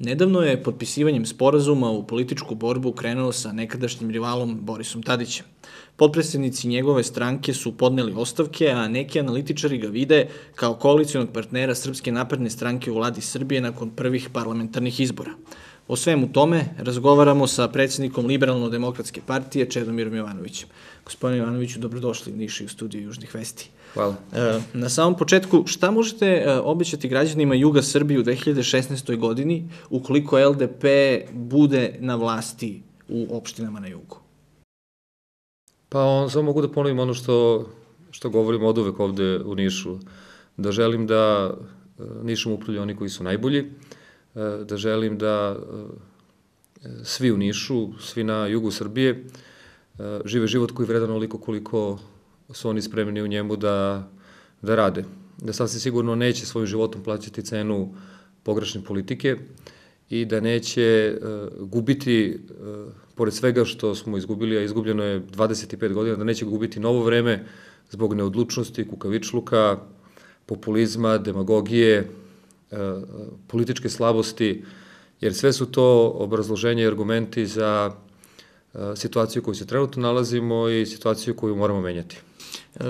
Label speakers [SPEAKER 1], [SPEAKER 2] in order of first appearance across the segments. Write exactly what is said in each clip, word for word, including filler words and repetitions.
[SPEAKER 1] Nedavno je potpisivanjem sporazuma u političku borbu krenuo sa nekadašnjim rivalom Borisom Tadićem. Potpredsednici njegove stranke su podneli ostavke, a neki analitičari ga vide kao koalicijonog partnera Srpske napredne stranke u vladi Srbije nakon prvih parlamentarnih izbora. O svemu tome razgovaramo sa predsednikom Liberalno-demokratske partije Čedomirom Jovanovićem. Gospodine Jovanoviću, dobrodošli u Niš i u studiju Južnih vesti.
[SPEAKER 2] Hvala.
[SPEAKER 1] Na samom početku, šta možete obećati građanima Juga Srbije u dve hiljade šesnaestoj godini ukoliko L D P bude na vlasti u opštinama na jugu?
[SPEAKER 2] Pa on, samo mogu da ponovim ono što, što govorim od uvek ovde u Nišu. Da želim da Nišom upravljaju oni koji su najbolji, da želim da svi u Nišu, svi na jugu Srbije, žive život koji je vredan onoliko koliko su oni spremni u njemu da, da rade. Da sasvim sigurno neće svojim životom plaćati cenu pogrešne politike i da neće uh, gubiti, uh, pored svega što smo izgubili, a izgubljeno je dvadeset pet godina, da neće gubiti novo vreme zbog neodlučnosti, kukavičluka, populizma, demagogije, uh, političke slabosti, jer sve su to obrazloženje i argumenti za uh, situaciju u kojoj se trenutno nalazimo i situaciju koju moramo menjati.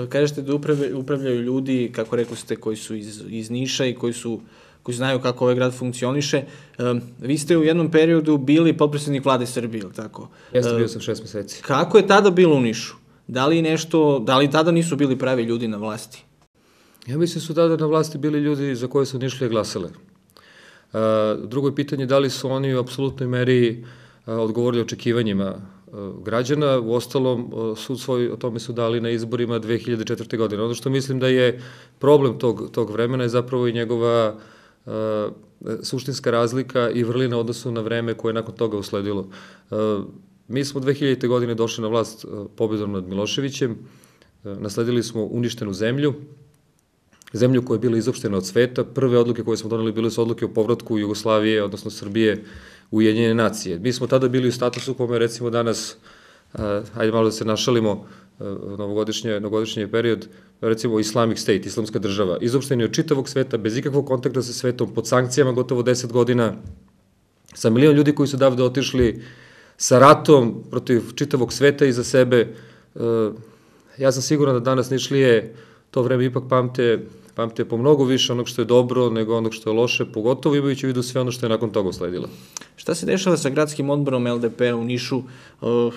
[SPEAKER 1] Kažete da upravljaju ljudi, kako rekli ste, koji su iz, iz Niša i koji su koji znaju kako ovaj grad funkcioniše. Vi ste u jednom periodu bili potpredsednik vlade Srbije, ili tako?
[SPEAKER 2] Jeste, bio sam šest meseci.
[SPEAKER 1] Kako je tada bilo u Nišu? Da li nešto, da li tada nisu bili pravi ljudi na vlasti?
[SPEAKER 2] Ja mislim su tada na vlasti bili ljudi za koje su Nišlije glasale. Drugo je pitanje da li su oni u apsolutnoj meri odgovorili očekivanjima građana. U ostalom, sud svoj o tome su dali na izborima dve hiljade četvrte. godine. Ono što mislim da je problem tog, tog vremena je zapravo i njegova uh, suštinska razlika i vrlina odnosu na vreme koje je nakon toga usledilo. Uh, mi smo dve hiljadite. godine došli na vlast uh, pobedom nad Miloševićem, uh, nasledili smo uništenu zemlju, zemlju koja je bila izopštena od sveta. Prve odluke koje smo doneli bile su odluke o povratku Jugoslavije, odnosno Srbije, u Ujedinjene nacije. Mi smo tada bili u statusu kome recimo danas, uh, hajde malo da se našalimo, uh, novogodišnje, novogodišnji period, recimo Islamic State, islamska država, izopšteni od čitavog sveta, bez ikakvog kontakta sa svetom, pod sankcijama gotovo deset godina, sa milion ljudi koji su davde otišli, sa ratom protiv čitavog sveta iza sebe. Uh, ja sam siguran da danas Nišlije to vreme ipak pamte, pamte po mnogo više onog što je dobro nego onog što je loše, pogotovo imajući u vidu sve ono što je nakon toga usledilo.
[SPEAKER 1] Šta se dešava sa gradskim odborom L D P-a u Nišu? Uh,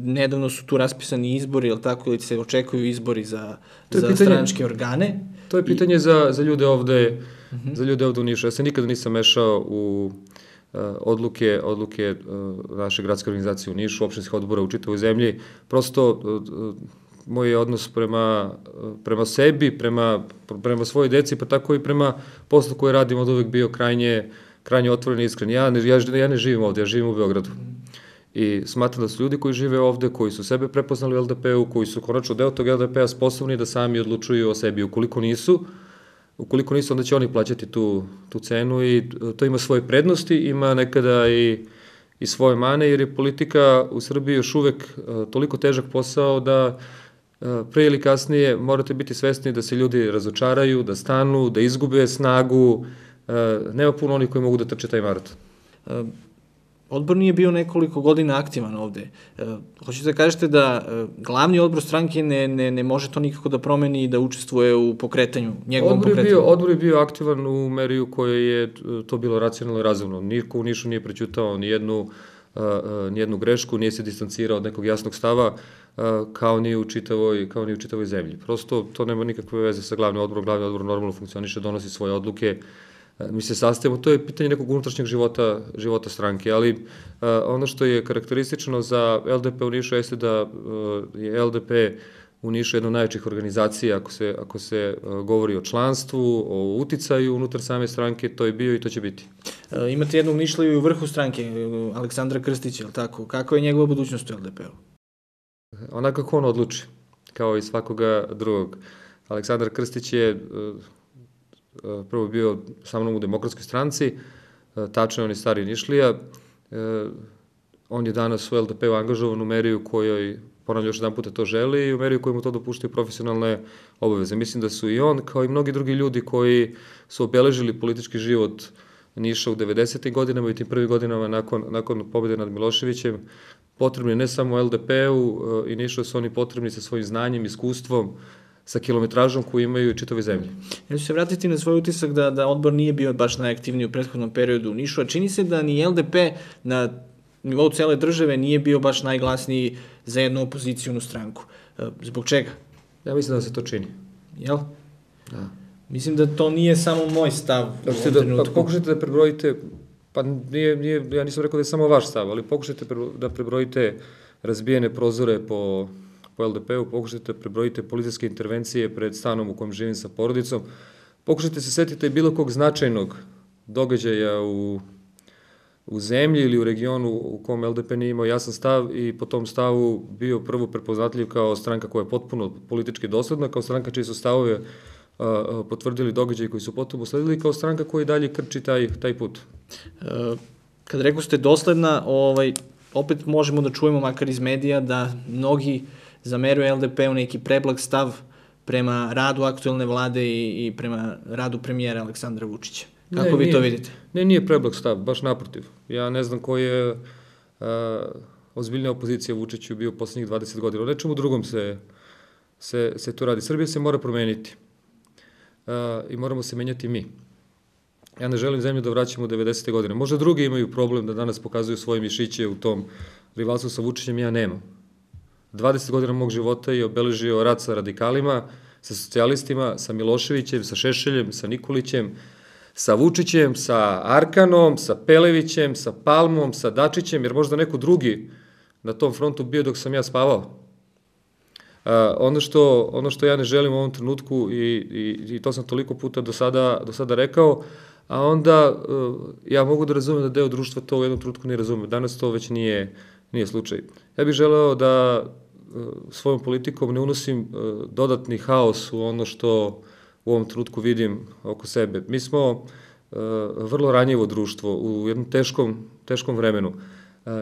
[SPEAKER 1] nedavno su tu raspisani izbori, ili tako, ili se očekuju izbori za, za pitanje, stranačke organe?
[SPEAKER 2] To je pitanje I... za, za ljude ovde, uh -huh. za ljude ovde u Nišu. Ja se nikada nisam mešao u uh, odluke, odluke uh, naše gradske organizacije u Nišu, opštinskih odbora u čitavoj zemlji. Prosto uh, moj odnos prema, prema sebi, prema, prema svojoj deci, pa tako i prema poslu koje radim od uvek bio krajnje, krajnje otvoren i iskren. Ja ne, ja, ja ne živim ovde, ja živim u Beogradu. I smatram da su ljudi koji žive ovde, koji su sebe prepoznali u L D P-u, koji su konačno deo tog L D P-a sposobni da sami odlučuju o sebi. Ukoliko nisu, ukoliko nisu, onda će oni plaćati tu, tu cenu i to ima svoje prednosti, ima nekada i i svoje mane, jer je politika u Srbiji još uvek uh, toliko težak posao da uh, pre ili kasnije morate biti svesni da se ljudi razočaraju, da stanu, da izgube snagu. Uh, nema puno onih koji mogu da trče taj maraton.
[SPEAKER 1] Uh, odbor nije bio nekoliko godina aktivan ovde. Uh, hoćete da kažete da uh, glavni odbor stranke ne, ne, ne može to nikako da promeni i da učestvuje u pokretanju, njegovom
[SPEAKER 2] odbor je
[SPEAKER 1] pokretanju?
[SPEAKER 2] Bio, odbor je bio aktivan u meri u kojoj je to bilo racionalno i razumno. Niko u Nišu nije prećutao ni jednu, uh, uh, ni jednu grešku, nije se distancirao od nekog jasnog stava, uh, kao ni u čitavoj, kao ni u čitavoj zemlji. Prosto to nema nikakve veze sa glavnim odborom. Glavni odbor normalno funkcioniše, donosi svoje odluke, mi se sastavimo, to je pitanje nekog unutrašnjeg života, života stranke, ali uh, ono što je karakteristično za L D P u Nišu jeste da uh, je L D P u Nišu jedna od najvećih organizacija, ako se, ako se uh, govori o članstvu, o uticaju unutar same stranke, to je bio i to će biti.
[SPEAKER 1] Uh, imate jednog Nišliju i u vrhu stranke, Aleksandra Krstića, je li tako? Kako je njegova budućnost u L D P-u?
[SPEAKER 2] Onako kako on odluči, kao i svakoga drugog. Aleksandar Krstić je uh, prvo bio sa mnom u Demokratskoj stranci, tačno je on je stari Nišlija, on je danas u L D P-u angažovan u meri u kojoj, ponavljam još jedan puta, to želi i u meri u kojoj mu to dopuštaju profesionalne obaveze. Mislim da su i on, kao i mnogi drugi ljudi koji su obeležili politički život Niša u devedesetim godinama i tim prvim godinama nakon, nakon pobjede nad Miloševićem, potrebni ne samo el de pe-u i Nišu su oni potrebni sa svojim znanjem, iskustvom, sa kilometražom koju imaju i čitove zemlje.
[SPEAKER 1] Ja ću se vratiti na svoj utisak da, da odbor nije bio baš najaktivniji u prethodnom periodu u Nišu, a čini se da ni el de pe na nivou cele države nije bio baš najglasniji za jednu opozicijonu stranku. Zbog čega?
[SPEAKER 2] Ja mislim da se to čini.
[SPEAKER 1] Jel?
[SPEAKER 2] Da.
[SPEAKER 1] Mislim da to nije samo moj stav u ovom
[SPEAKER 2] da,
[SPEAKER 1] trenutku.
[SPEAKER 2] Pa pokušajte da prebrojite, pa nije, nije, ja nisam rekao da je samo vaš stav, ali pokušajte da prebrojite razbijene prozore po, po el de pe-u, pokušajte da prebrojite policijske intervencije pred stanom u kojem živim sa porodicom, pokušajte se setiti bilo kog značajnog događaja u, u zemlji ili u regionu u kom el de pe nije imao jasan stav i po tom stavu bio prvo prepoznatljiv kao stranka koja je potpuno politički dosledna, kao stranka čiji su stavove potvrdili događaji koji su potom usledili, kao stranka koja i dalje krči taj, taj put.
[SPEAKER 1] Kad rekao ste dosledna, ovaj, opet možemo da čujemo, makar iz medija, da mnogi zameruju el de pe-u neki preblag stav prema radu aktuelne vlade i, i prema radu premijera Aleksandra Vučića. Kako
[SPEAKER 2] ne,
[SPEAKER 1] vi
[SPEAKER 2] nije,
[SPEAKER 1] to vidite?
[SPEAKER 2] Ne, nije preblag stav, baš naprotiv. Ja ne znam koji je a, ozbiljna opozicija Vučiću bio poslednjih dvadeset godina. O nečemu drugom se, se, se to radi. Srbija se mora promeniti. Uh, i moramo se menjati mi. Ja ne želim zemlju da vraćamo u devedesete godine. Možda drugi imaju problem da danas pokazuju svoje mišiće u tom rivalstvu sa Vučićem, ja nemam. dvadeset godina mog života je obeležio rat sa radikalima, sa socijalistima, sa Miloševićem, sa Šešeljem, sa Nikolićem, sa Vučićem, sa Arkanom, sa Pelevićem, sa Palmom, sa Dačićem, jer možda neko drugi na tom frontu bio dok sam ja spavao. Uh, ono, što, ono što ja ne želim u ovom trenutku i, i, i to sam toliko puta do sada, do sada rekao, a onda uh, ja mogu da razumem da deo društva to u jednom trenutku ne razume. Danas to već nije, nije slučaj. Ja bih želeo da uh, svojom politikom ne unosim uh, dodatni haos u ono što u ovom trenutku vidim oko sebe. Mi smo uh, vrlo ranjivo društvo u jednom teškom, teškom vremenu.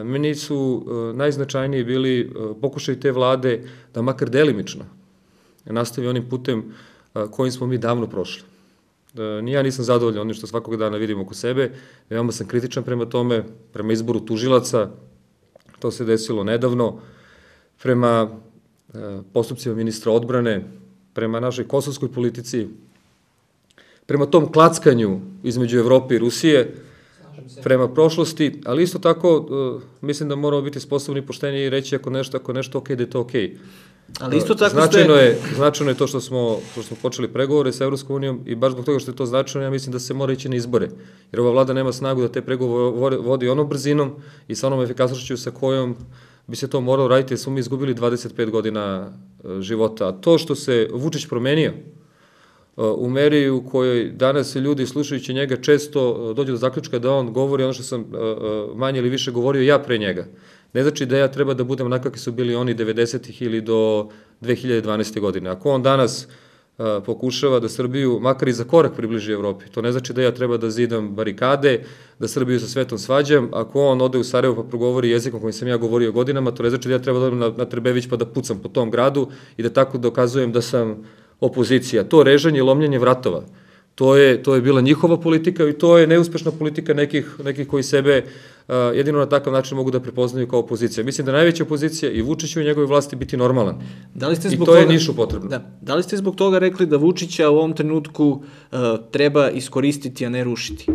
[SPEAKER 2] Meni su najznačajniji bili pokušaj te vlade da makar delimično nastavi onim putem kojim smo mi davno prošli. Ni ja nisam zadovoljan onim što svakog dana vidim oko sebe, veoma sam kritičan prema tome, prema izboru tužilaca, to se desilo nedavno, prema postupcima ministra odbrane, prema našoj kosovskoj politici, prema tom klackanju između Evrope i Rusije, prema prošlosti, ali isto tako uh, mislim da moramo biti sposobni i pošteni i reći ako nešto, ako nešto ok, da je to ok.
[SPEAKER 1] Ali isto tako
[SPEAKER 2] značajno
[SPEAKER 1] ste...
[SPEAKER 2] je, značajno je to što smo, što smo počeli pregovore sa Evropskom unijom i baš zbog toga što je to značajno, ja mislim da se mora ići na izbore. Jer ova vlada nema snagu da te pregovore vodi onom brzinom i sa onom efikasnošću sa kojom bi se to moralo raditi, jer smo mi izgubili dvadeset pet godina života. A to što se Vučić promenio, u meri u kojoj danas ljudi slušajući njega često dođu do zaključka da on govori ono što sam manje ili više govorio ja pre njega. Ne znači da ja treba da budem onako kakvi su bili oni devedesetih ili do dve hiljade dvanaeste. godine. Ako on danas pokušava da Srbiju makar i za korak približi Evropi, to ne znači da ja treba da zidam barikade, da Srbiju sa svetom svađam. Ako on ode u Sarajevo pa progovori jezikom kojim sam ja govorio godinama, to ne znači da ja treba da odem na, na Trbević pa da pucam po tom gradu i da tako dokazujem da sam opozicija. To režanje i lomljenje vratova, to je, to je bila njihova politika i to je neuspešna politika nekih, nekih koji sebe uh, jedino na takav način mogu da prepoznaju kao opozicija. Mislim da najveća opozicija i Vučiću i njegove vlasti biti normalan.
[SPEAKER 1] Da li ste
[SPEAKER 2] I
[SPEAKER 1] zbog
[SPEAKER 2] to
[SPEAKER 1] toga,
[SPEAKER 2] je Nišu potrebno.
[SPEAKER 1] Da, da li ste zbog toga rekli da Vučića u ovom trenutku uh, treba iskoristiti, a ne rušiti?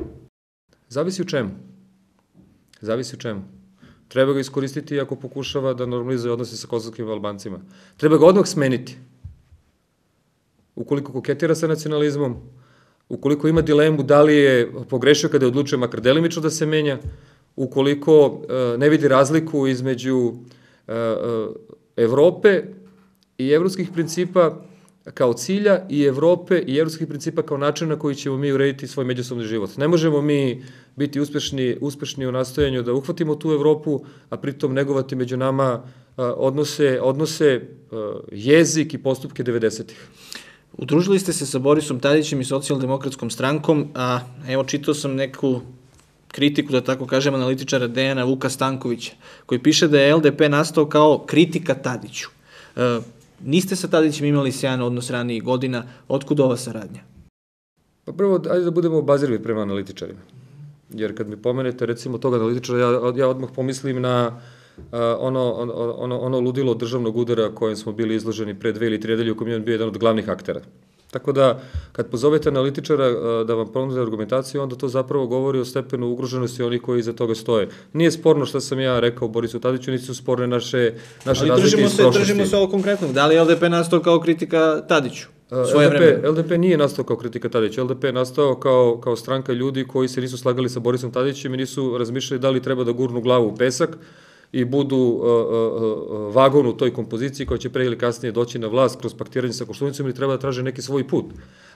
[SPEAKER 2] Zavisi u čemu. Zavisi u čemu. Treba ga iskoristiti ako pokušava da normalizuje odnose sa kosovskim Albancima. Treba ga odmah smeniti. Ukoliko koketira sa nacionalizmom, ukoliko ima dilemu da li je pogrešio kada je odlučio makar delimično da se menja, ukoliko uh, ne vidi razliku između uh, uh, Evrope i evropskih principa kao cilja i Evrope i evropskih principa kao načina na koji ćemo mi urediti svoj međusobni život. Ne možemo mi biti uspešni, uspešni u nastojanju da uhvatimo tu Evropu, a pritom negovati među nama uh, odnose, odnose uh, jezik i postupke devedesetih.
[SPEAKER 1] Udružili ste se sa Borisom Tadićem i socijaldemokratskom strankom, a evo čitao sam neku kritiku, da tako kažem, analitičara Dejana Vuka Stankovića, koji piše da je el de pe nastao kao kritika Tadiću. E, niste sa Tadićem imali sjajan odnos ranijih godina, otkud ova saradnja?
[SPEAKER 2] Pa prvo, ajde da budemo obazirivi prema analitičarima. Jer kad mi pomenete, recimo, tog analitičara, ja, ja odmah pomislim na ono, ono, ono ludilo državnog udara kojem smo bili izloženi pre dve ili tri nedelje u kojem je bio jedan od glavnih aktera. Tako da, kad pozovete analitičara da vam ponude argumentaciju, onda to zapravo govori o stepenu ugroženosti onih koji iza toga stoje. Nije sporno što sam ja rekao Borisu Tadiću, niti su sporne naše, naše razlike iz prošlosti.
[SPEAKER 1] Ali držimo se ovo konkretno. Da li je L D P nastao kao kritika Tadiću?
[SPEAKER 2] L D P nije nastao kao kritika Tadića. L D P je nastao kao, kao stranka ljudi koji se nisu slagali sa Borisom Tadićem i nisu razmišljali da li treba da gurnu glavu u pesak i budu uh, uh, vagon u toj kompoziciji koja će pre ili kasnije doći na vlast kroz paktiranje sa Koštunicom ili treba da traže neki svoj put.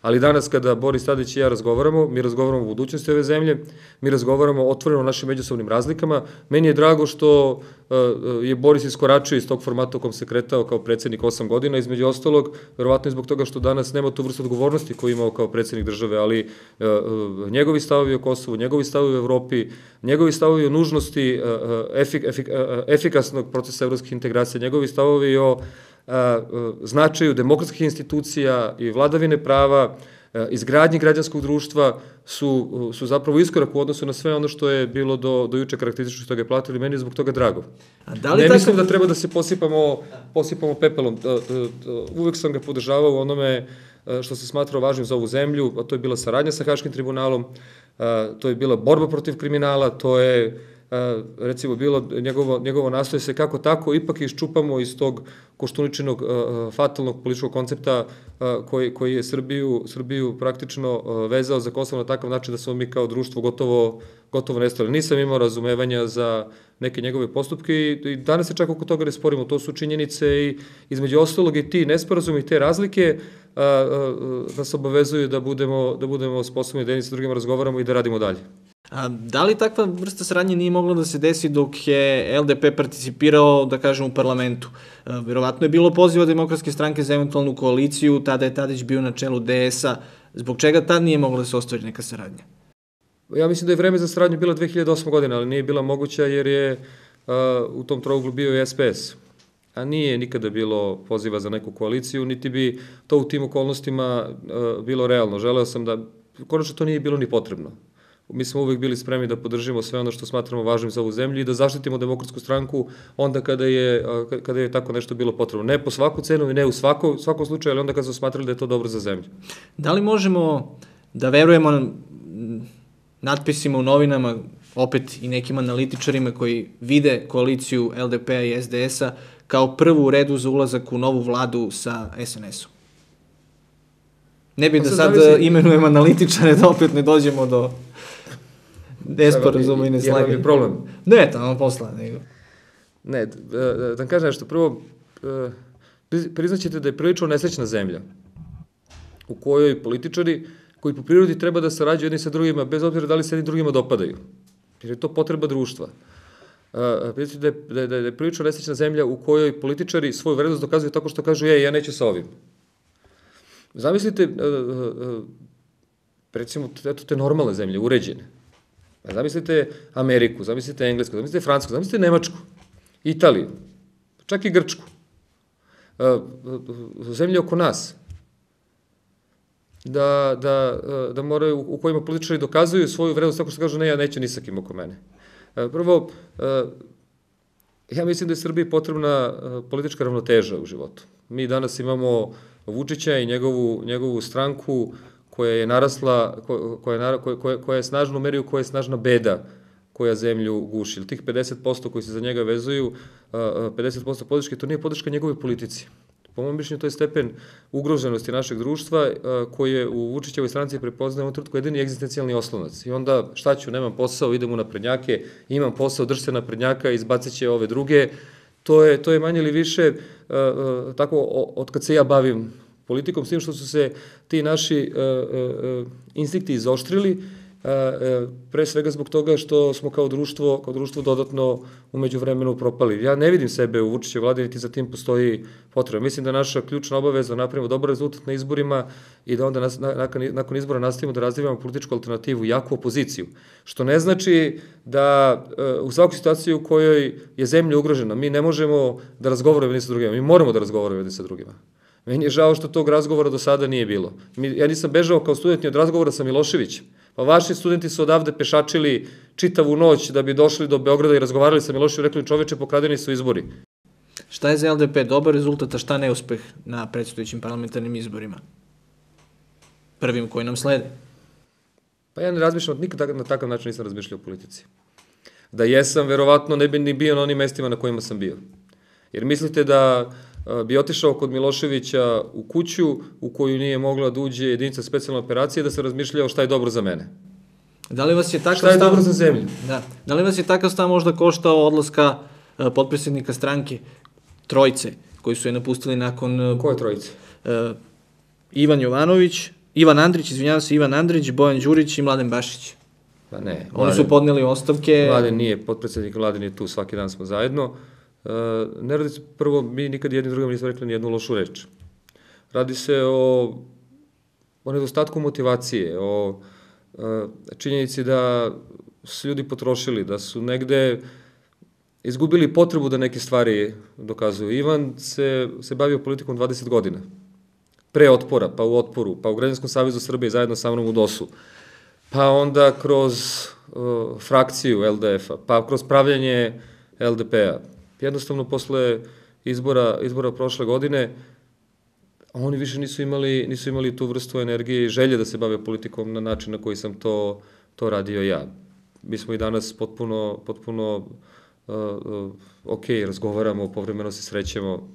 [SPEAKER 2] Ali danas kada Boris Tadić i ja razgovaramo, mi razgovaramo o budućnosti ove zemlje, mi razgovaramo otvoreno o našim međusobnim razlikama. Meni je drago što uh, je Boris iskoračio iz tog formata u kom se kretao kao predsednik osam godina, između ostalog, verovatno i zbog toga što danas nema tu vrstu odgovornosti koju imao kao predsednik države, ali uh, uh, njegovi stavovi o Kosovu, njegovi stavovi o Evropi, njegovi stavovi o nužnosti uh, efik, efik, uh, efikasnog procesa evropskih integracija, njegovi stavovi o a, značaju demokratskih institucija i vladavine prava, a, izgradnji građanskog društva su, su zapravo iskorak u odnosu na sve ono što je bilo do, do juče karakteristično što ga je platili. Meni je zbog toga drago. A da li ne tako... mislim da treba da se posipamo, posipamo pepelom. Uvek sam ga podržavao u onome što se smatrao važnim za ovu zemlju, a to je bila saradnja sa Haškim tribunalom, a, to je bila borba protiv kriminala, to je recimo bilo njegovo, njegovo nastoje se kako tako ipak iščupamo iz tog koštuničinog uh, fatalnog političkog koncepta uh, koji, koji je Srbiju, Srbiju praktično uh, vezao za Kosovo na takav način da smo mi kao društvo gotovo, gotovo nestali. Nisam imao razumevanja za neke njegove postupke i, i danas se čak oko toga ne sporimo. To su činjenice i između ostalog i ti nesporazumi i te razlike uh, uh, nas obavezuju da budemo, da budemo sposobni da jedni sa drugima razgovaramo i da radimo dalje.
[SPEAKER 1] A da li takva vrsta saradnje nije mogla da se desi dok je L D P participirao, da kažem, u parlamentu? Verovatno je bilo poziva Demokratske stranke za eventualnu koaliciju, tada je Tadić bio na čelu D S-a. Zbog čega tad nije mogla da se ostvari neka saradnja?
[SPEAKER 2] Ja mislim da je vreme za saradnju bila dve hiljade osme. godina, ali nije bila moguća jer je a, u tom trouglu bio i S P S. A nije nikada bilo poziva za neku koaliciju, niti bi to u tim okolnostima a, bilo realno. Želeo sam da, konačno to nije bilo ni potrebno. Mi smo uvek bili spremni da podržimo sve ono što smatramo važnim za ovu zemlju i da zaštitimo Demokratsku stranku onda kada je, kada je tako nešto bilo potrebno. Ne po svaku cenu i ne u svako, svakom slučaju, ali onda kada smo smatrali da je to dobro za zemlju.
[SPEAKER 1] Da li možemo da verujemo natpisima u novinama, opet i nekim analitičarima koji vide koaliciju L D P-a i S D S-a kao prvu u redu za ulazak u novu vladu sa S N S-om? Ne bi da sad imenujem analitičare da opet ne dođemo do nesporazuma i neslaganja.
[SPEAKER 2] Jedan je problem.
[SPEAKER 1] Ne, tamo posla. Nego.
[SPEAKER 2] Ne, da vam kažem nešto. Prvo, priznaćete da je prilično nesrećna zemlja u kojoj političari koji po prirodi treba da sarađuju jedni sa drugima, bez obzira da li se jedni drugima dopadaju. Jer je to potreba društva. Priznaćete da je, da je prilično nesrećna zemlja u kojoj političari svoju vrednost dokazuju tako što kažu, je, ja neću sa ovim. Zamislite, recimo, eto te normalne zemlje, uređene. Zamislite Ameriku, zamislite Englesku, zamislite Francusku, zamislite Nemačku, Italiju, čak i Grčku, zemlje oko nas, da, da, da moraju, u kojima političari dokazuju svoju vrednost tako što kažu, ne, ja neću ni sa kim oko mene. Prvo, ja mislim da je Srbiji potrebna politička ravnoteža u životu. Mi danas imamo Vučića i njegovu, njegovu stranku koja je narasla, koja je, koja, koja je snažno meriju, koja je snažna beda koja zemlju guši. Tih pedeset posto koji se za njega vezuju, pedeset posto podrške, to nije podrška njegove politici. Po mojom mišljenju, to je stepen ugroženosti našeg društva koji je u Vučićevoj stranci prepoznaje u ovom trenutku jedini egzistencijalni oslonac. I onda šta ću, nemam posao, idem u naprednjake, imam posao, drž se naprednjaka, izbacit će ove druge. To je, to je manje ili više tako od kad se ja bavim politikom, s tim što su se ti naši uh, uh, instinkti izoštrili, uh, uh, pre svega zbog toga što smo kao društvo, kao društvo dodatno umeđu vremenu propali. Ja ne vidim sebe u Vučićevoj vladi, niti za tim postoji potreba. Mislim da naša ključna obaveza da napravimo dobar rezultat na izborima i da onda nas, nakon, nakon izbora nastavimo da razvijamo političku alternativu, jaku opoziciju. Što ne znači da uh, u svakoj situaciji u kojoj je zemlja ugrožena, mi ne možemo da razgovaramo jedni sa drugima, mi moramo da razgovaramo jedni sa drugima. Meni je žao što tog razgovora do sada nije bilo. Ja nisam bežao kao student ni od razgovora sa Miloševićem. Pa vaši studenti su odavde pešačili čitavu noć da bi došli do Beograda i razgovarali sa Miloševićem, rekli čoveče, pokradeni su izbori.
[SPEAKER 1] Šta je za L D P dobar rezultat, a šta neuspeh na predstojećim parlamentarnim izborima? Prvim koji nam slede.
[SPEAKER 2] Pa ja ne razmišljam, nikad na takav način nisam razmišljao o politici. Da jesam, verovatno ne bi ni bio na onim mestima na kojima sam bio. Jer mislite da bi otišao kod Miloševića u kuću u koju nije mogla da uđe jedinica specijalne operacije da se razmišljao šta je dobro za mene.
[SPEAKER 1] Da li vas je takav
[SPEAKER 2] šta je
[SPEAKER 1] stav...
[SPEAKER 2] dobro za zemlju?
[SPEAKER 1] Da. Da li vas je takav stav možda koštao odlaska uh, potpredsjednika stranke trojice koji su je napustili nakon... Uh,
[SPEAKER 2] Koje trojice?
[SPEAKER 1] Uh, Ivan Jovanović, Ivan Andrić, izvinjavam se, Ivan Andrić, Bojan Đurić i Mladen Bašić.
[SPEAKER 2] Pa ne.
[SPEAKER 1] Oni su podneli ostavke...
[SPEAKER 2] Mladen nije, potpredsjednik Mladen je tu, svaki dan smo zajedno. Uh, ne radi se, prvo, mi nikad jednim drugom nismo rekli ni jednu lošu reč. Radi se o, o nedostatku motivacije, o uh, činjenici da su ljudi potrošili, da su negde izgubili potrebu da neke stvari dokazuju. Ivan se, se bavio politikom dvadeset godina. Pre Otpora, pa u Otporu, pa u Građanskom savezu Srbije zajedno sa mnom u DOS-u, pa onda kroz uh, frakciju L D F-a, pa kroz pravljanje L D P-a. Jednostavno, posle izbora, izbora prošle godine, oni više nisu imali, nisu imali tu vrstu energije i želje da se bave politikom na način na koji sam to, to radio ja. Mi smo i danas potpuno, potpuno uh, uh, ok, razgovaramo, povremeno se srećemo.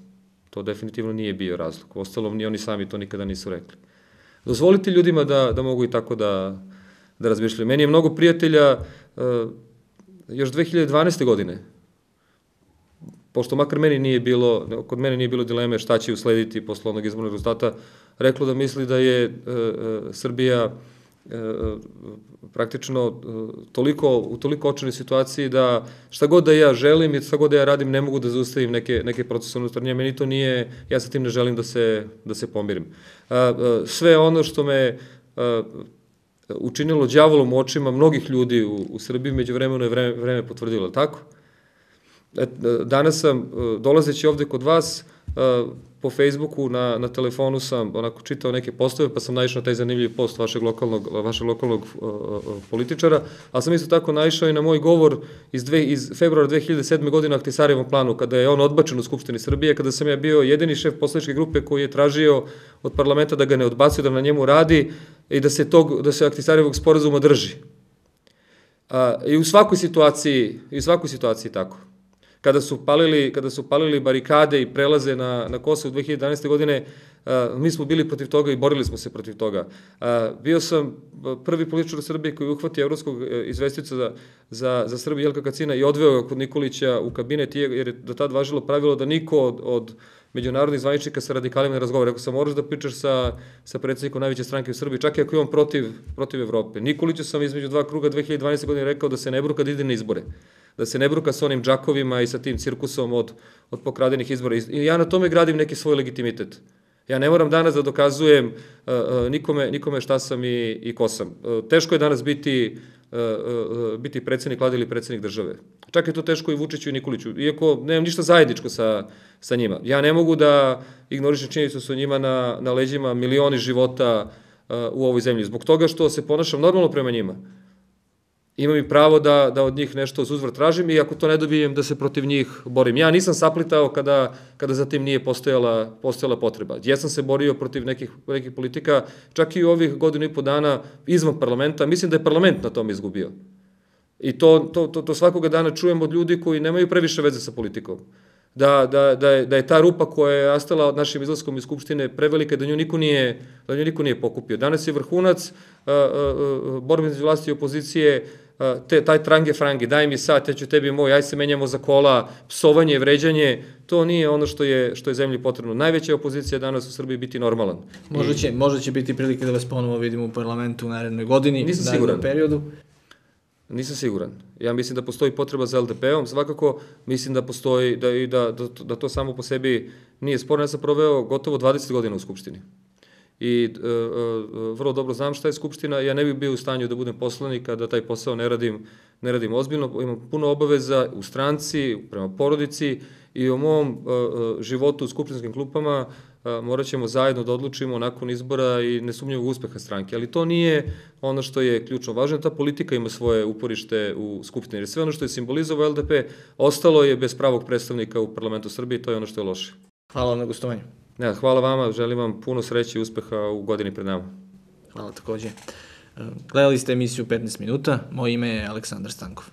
[SPEAKER 2] To definitivno nije bio razlog. Ostalom, ni oni sami to nikada nisu rekli. Dozvolite ljudima da, da mogu i tako da, da razmišljaju. Meni je mnogo prijatelja uh, još dve hiljade dvanaeste. godine, pošto makar meni nije bilo, kod mene nije bilo dileme šta će uslediti posle onog izbornog rezultata, reklo da misli da je uh, uh, Srbija uh, praktično uh, toliko, u toliko očenoj situaciji da šta god da ja želim i šta god da ja radim ne mogu da zaustavim neke, neke procese unutar nje. Meni to nije, ja sa tim ne želim da se, da se pomirim. Uh, uh, sve ono što me uh, učinilo đavolom u očima mnogih ljudi u, u Srbiji, među vremenu je vreme, vreme potvrdilo, tako? Danas sam, dolazeći ovde kod vas, po Facebooku, na, na telefonu sam onako čitao neke postove, pa sam naišao na taj zanimljiv post vašeg lokalnog, vašeg lokalnog uh, političara, ali sam isto tako naišao i na moj govor iz, dve, iz februara dve hiljade sedme. godine o Ahtisarijevom planu, kada je on odbačen u Skupštini Srbije, kada sam ja bio jedini šef poslaničke grupe koji je tražio od parlamenta da ga ne odbacuje, da na njemu radi i da se, tog, da se Ahtisarijevog sporazuma drži. Uh, I u svakoj situaciji, i u svakoj situaciji tako. Kada su palili, kada su palili barikade i prelaze na, na Kosovo dve hiljade jedanaeste. godine, a, mi smo bili protiv toga i borili smo se protiv toga. A, bio sam prvi političar u Srbiji koji uhvatio evropskog izvestioca za, za, za Srbiju Jelka Kacina i odveo ga kod Nikolića u kabinet, jer je do tad važilo pravilo da niko od, od međunarodnih zvaničnika sa radikalima ne razgovara. Rekao sam, moraš da pričaš sa, sa predsjednikom najveće stranke u Srbiji, čak i ako je on protiv, protiv Evrope. Nikoliću sam između dva kruga dve hiljade dvanaeste. godine rekao da se ne bruka da ide na izbore. Da se ne bruka sa onim džakovima i sa tim cirkusom od, od pokradenih izbora. I ja na tome gradim neki svoj legitimitet. Ja ne moram danas da dokazujem uh, uh, nikome, nikome šta sam i, i ko sam. Uh, teško je danas biti, uh, uh, biti predsjednik vlade ili predsjednik države. Čak je to teško i Vučiću i Nikoliću, iako nemam ništa zajedničko sa, sa njima. Ja ne mogu da ignorišem činjenicu su njima na, na leđima milioni života uh, u ovoj zemlji. Zbog toga što se ponašam normalno prema njima. Imam i pravo da, da od njih nešto uzvrat tražim i ako to ne dobijem da se protiv njih borim. Ja nisam saplitao kada, kada za tim nije postojala, postojala potreba. Ja sam se borio protiv nekih, nekih politika, čak i u ovih godinu i po dana izvan parlamenta. Mislim da je parlament na tom izgubio. I to, to, to, to svakoga dana čujem od ljudi koji nemaju previše veze sa politikom. Da, da, da, je, da je ta rupa koja je ostala od našim izlaskom iz Skupštine prevelika, da nju niko nije, da nju niko nije pokupio. Danas je vrhunac uh, uh, borbe između vlasti i opozicije, uh, te, taj trange frange, daj mi sat, ja ću tebi moj, aj se menjamo za kola, psovanje, vređanje, to nije ono što je, što je zemlji potrebno. Najveća opozicija danas u Srbiji biti normalan.
[SPEAKER 1] Možda će, možda će biti prilike da vas ponovo vidimo u parlamentu u narednoj godini,
[SPEAKER 2] Nisam siguran.
[SPEAKER 1] periodu.
[SPEAKER 2] Nisam siguran. Ja mislim da postoji potreba za L D P-om, svakako mislim da postoji, da, i da, da, da to samo po sebi nije sporno. Ja sam proveo gotovo dvadeset godina u Skupštini. i vrlo dobro znam šta je Skupština. Ja ne bih bio u stanju da budem poslanik, a da taj posao ne radim, ne radim ozbiljno. Imam puno obaveza u stranci, prema porodici i o mom životu u skupštinskim klupama morat ćemo zajedno da odlučimo nakon izbora i nesumnjivog uspeha stranke. Ali to nije ono što je ključno važno. Ta politika ima svoje uporište u Skupštini. Jer sve ono što je simbolizovao L D P ostalo je bez pravog predstavnika u parlamentu Srbije i to je ono što je loše.
[SPEAKER 1] Hvala vam na gostovanju.
[SPEAKER 2] Ne, hvala vama, želim vam puno sreće i uspeha u godini pred nama.
[SPEAKER 1] Hvala takođe. Gledali ste emisiju petnaest minuta, moje ime je Aleksandar Stankov.